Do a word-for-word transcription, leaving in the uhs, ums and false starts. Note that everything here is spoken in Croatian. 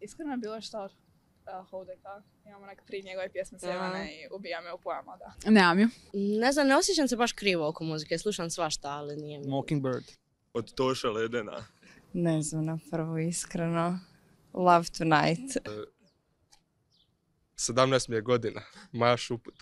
iskreno je bilo što od uh, Houdeka. Imamo neke tri njegove pjesme sjevane i ubija me u pojama, da. Nemam ju. Ne znam, ne osjećam se baš krivo oko muzike, slušam svašta, ali nije mi... Mockingbird. Od Toša Ledena. Ne znam na prvu iskreno. Love Tonight. sedamnaest mi je godina. Maja Šuput.